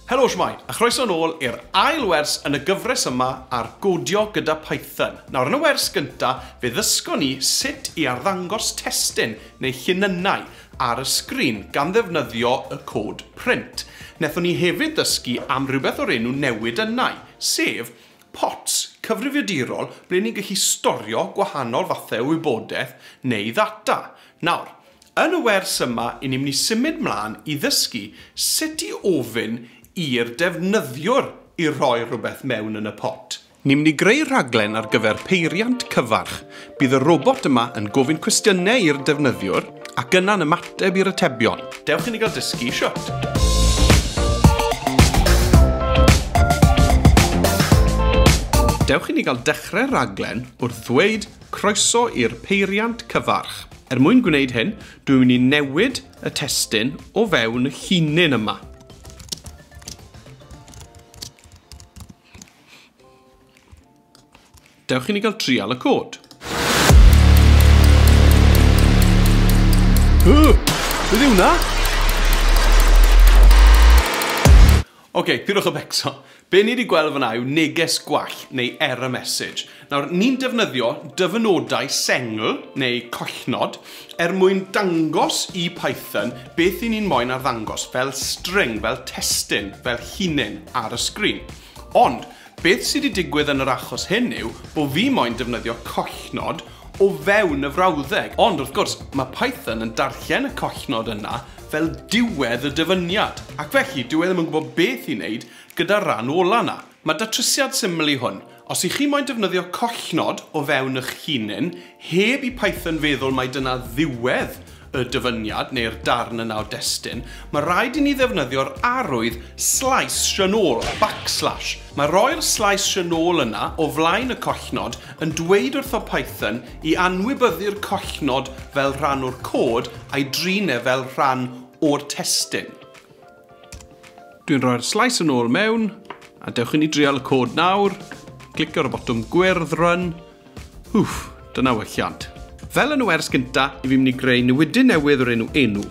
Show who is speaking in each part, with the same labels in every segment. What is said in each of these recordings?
Speaker 1: Helo shwmae, a chroeso nôl i'r ail wers yn y gyfres yma ar godio gyda Python. Nawr yn y wers gynta, fe ddysgon ni sut i arddangos testun neu llinynnau ar y sgrin gan ddefnyddio y cod print. Nethon ni hefyd ddysgu am rhywbeth o'r enw newidynnau, sef pots cyfrifiadurol ble ni'n gallu storio gwahanol fathau o wybodaeth neu ddata. Nawr, yn y wers yma, i ni'n mynd i symud mlaen i ddysgu sut i ofyn i'r defnyddiwr i roi rhywbeth mewn yn y pot. Ni'n mynd i greu rhaglen ar gyfer peiriant cyfarch. Bydd y robot yma yn gofyn cwestiynau i'r defnyddiwr ac yna'n ymateb i'r atebion. Dewch i ni gael dysgu shwt. Dewch i ni gael dechrau'r rhaglen wrth ddweud croeso i'r peiriant cyfarch. Er mwyn gwneud hyn, dwi'n mynd i newid y testun o fewn y llinyn yma. Dewch i ni gael trial y cod. Beth yw hwnna? Oce, pidwch â becso. Be ni wedi gweld fyna yw neges gwall neu error message. Nawr, ni'n defnyddio dyfynodau sengl neu collnod er mwyn dangos i Python beth i ni'n moyn arddangos fel string, fel testun, fel llinyn ar y sgrin. Ond, beth sydd wedi digwydd yn yr achos hyn yw bod fi moyn defnyddio collnod o fewn y frawddeg. Ond wrth gwrs, mae Python yn darllen y collnod yna fel diwedd y dyfyniad. Ac felly, dyw e ddim yn gwybod beth i wneud gyda'r rhan ola yna. Mae datrysiad syml i hwn. Os ych chi moyn defnyddio collnod o fewn eich hunan, heb i Python feddwl mai dyna ddiwedd y dyfyniad neu'r darn yna o destun, mae rhaid i ni ddefnyddio'r arwydd slash yn ôl, backslash. Mae roi'r slash yn ôl yna o flaen y collnod yn dweud wrtho Python i anwybyddu'r collnod fel rhan o'r cod a'i drin e fel rhan o'r testun. Dwi'n rhoi'r slash yn ôl mewn, a dewch i ni drial y cod nawr. Clicio ar y botwm gwyrdd run. Wff, dyna welliant. Fel yn y wers gynta, i fi'n mynd i greu newidyn newydd o'r enw enw.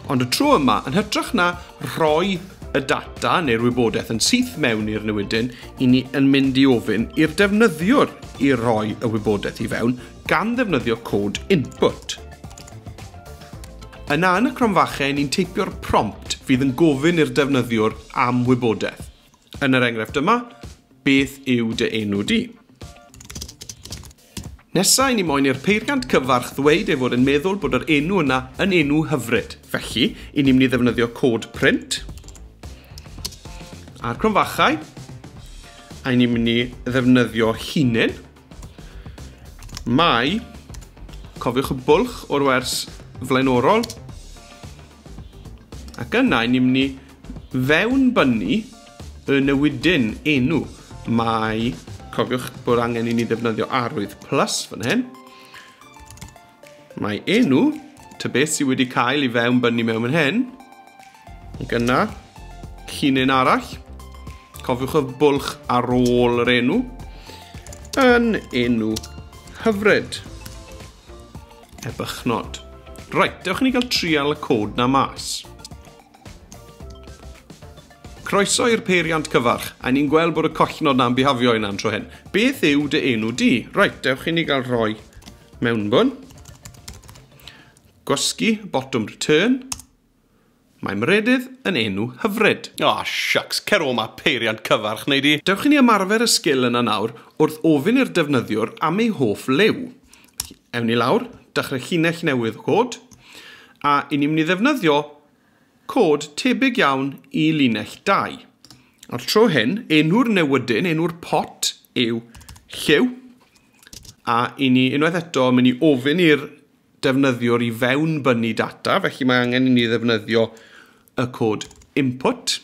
Speaker 1: Ond y tro yma, yn hytrach na rhoi y data neu'r wybodaeth yn syth mewn i'r newidyn, i ni yn mynd i ofyn i'r defnyddiwr i roi y wybodaeth i fewn gan ddefnyddio cod input. Yna yn y cromfachau, ni'n teipio'r prompt fydd yn gofyn i'r defnyddiwr am wybodaeth. Yn yr enghraifft yma, beth yw dy enw di? Nesa, i ni moyn i'r peiriant cyfarch ddweud ei fod yn meddwl bod yr enw yna yn enw hyfryd. Felly, i ni'n mynd i ddefnyddio cod print a'r cromfachau, a i ni'n mynd i ddefnyddio llinyn. Mae, cofiwch y bwlch o'r wers flaenorol, ac yna i ni'n mynd i fewnbynnu y newidyn enw. Mae, cofiwch bod angen i ni ddefnyddio arwydd plus fan hyn. Mae enw, ta beth sydd wedi cael ei fewnbynnu mewn fan hyn, ac yna, llinyn arall, cofiwch y bwlch ar ôl yr enw, yn enw hyfryd, ebychnod. Reit, dewch i ni gael trial y cod na mas. Croeso i'r peiriant cyfarch, a ni'n gweld bod y collnod na'n bihafio yna'n tro hyn. Beth yw dy enw di? Reit, dewch i ni gael rhoi mewnbwn. Gwasgu, botwm return. Mae Meredydd yn enw hyfryd. O, shucks, cer o ma peiriant cyfarch, neu di. Dewch i ni ymarfer y sgil yna nawr wrth ofyn i'r defnyddiwr am ei hoff liw. Ewn ni lawr, dechrau llinell newydd o cod, a i ni'n mynd i ddefnyddio cod tebyg iawn i linell 2. A'r tro hyn, enw'r newydyn, enw'r pot yw lliw, a i ni unwaith eto mynd i ofyn i'r defnyddiwr i fewnbynnu data, felly mae angen i ni ddefnyddio y cod input,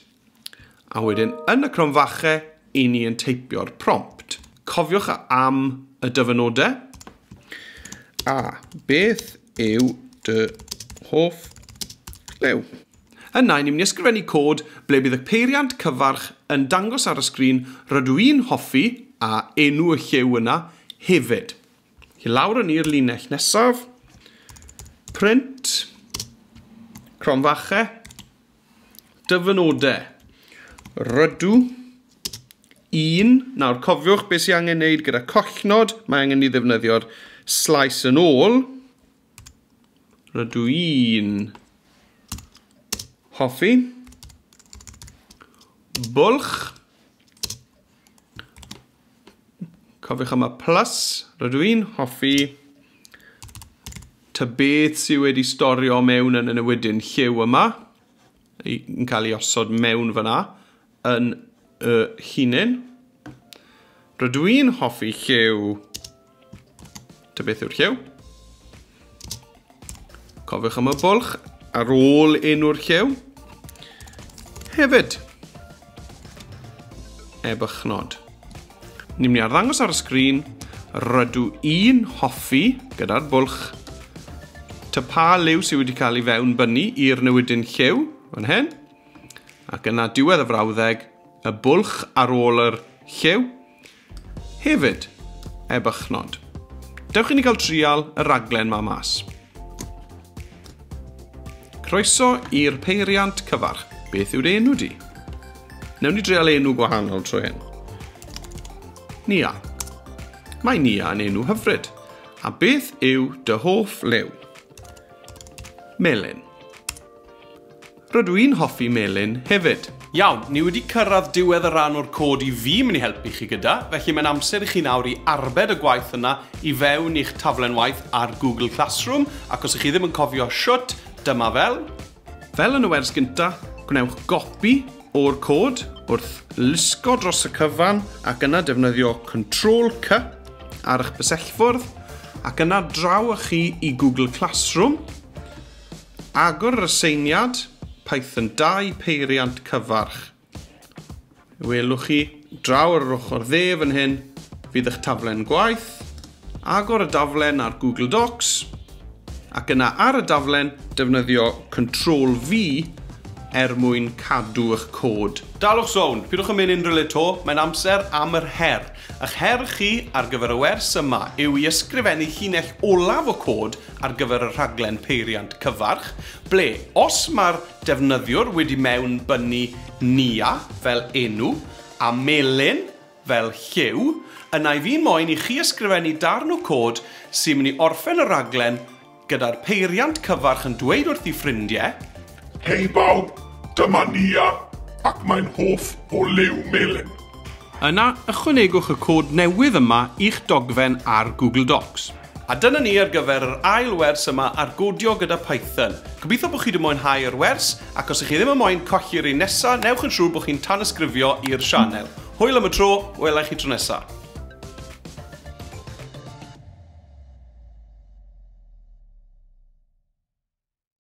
Speaker 1: a wedyn yn y cromfachau i ni yn teipio'r prompt. Cofiwch am y dyfynodau. A beth yw dy hoff liw? Yna, ni'n mynd i ysgrifennu cod ble bydd y peiriant cyfarch yn dangos ar y sgrin rydw i'n hoffi a enw y lliw yna hefyd. I lawr yn i'r linell nesaf. Print, cromfachau, Dyfynodau. Rydw un. Nawr, cofiwch beth sy'n angen wneud gyda collnod. Mae angen i ddefnyddio'r slaes yn ôl. Rydw i'n hoffi. Bwlch. Cofiwch am y plus. Rydw i'n hoffi ta beth sydd wedi storio mewn yn y newidyn lliw yma, yn cael ei osod mewn fyna, yn y hunin. Rydw i'n hoffi lliw, ta beth yw'r lliw. Cofiwch am y bwlch ar ôl enw'r lliw. Hefyd, ebychnod. Ni'n mynd i arddangos ar y sgrin, rydw i'n hoffi gyda'r bwlch ta pa liw sydd wedi cael ei fewn bynnu i'r newidyn lliw, fan hyn. Ac yna diwedd y frawddeg, y bwlch ar ôl yr lliw. Hefyd, ebychnod. Dewch i ni gael trial y raglen ma mas. Croeso i'r peiriant cyfarch. Beth yw'r enw di? Newn ni drial enw gwahanol trwy hyn. Nia. Mae Nia yn enw hyfryd. A beth yw dy hoff liw? Melyn. Rydw i'n hoffi melyn hefyd. Iawn, ni wedi cyrraedd diwedd y rhan o'r cod i fi mynd i helpu chi gyda, felly mae'n amser i chi nawr i arbed y gwaith yna i fewn i'ch taflen waith ar Google Classroom, ac os ych chi ddim yn cofio shwt, dyma fel. Fel yn y wers gynta, gwnewch gopi o'r cod wrth lusgo dros y cyfan ac yna defnyddio Ctrl C ar eich bysellfwrdd ac yna draw â chi i Google Classroom. Agor yr aseiniad, Python 2 peiriant cyfarch. Welwch chi, draw ar yr ochr dde fan hyn, fydd eich taflen gwaith. Agor y daflen ar Google Docs, ac yna ar y daflen defnyddio Ctrl V er mwyn cadw eich cod. Dalwch sownd, pidwch yn mynd unrhyw le to, mae'n amser am yr her. Ych her chi ar gyfer y wers yma yw i ysgrifennu llinell olaf o cod ar gyfer y rhaglen peiriant cyfarch, ble os mae'r defnyddiwr wedi mewn bynnu Nia fel enw a melyn fel lliw, yna i fi moyn i chi ysgrifennu darn o cod sy'n mynd i orffen y rhaglen gyda'r peiriant cyfarch yn dweud wrth ei ffrindiau,
Speaker 2: Hei bawb, dyma Nia, ac mae'n hoff o liw melyn.
Speaker 1: Yna, ychwanegwch y cod newydd yma i'ch dogfen ar Google Docs. A dyna ni ar gyfer yr ail wers yma ar godio gyda Python. Gobeithio bod chi wedi mwynhau yr wers, ac os ych chi ddim yn moyn colli'r un nesaf, newch yn siŵr bod chi'n tanysgrifio i'r sianel. Hwyl am y tro, welai chi tro nesaf.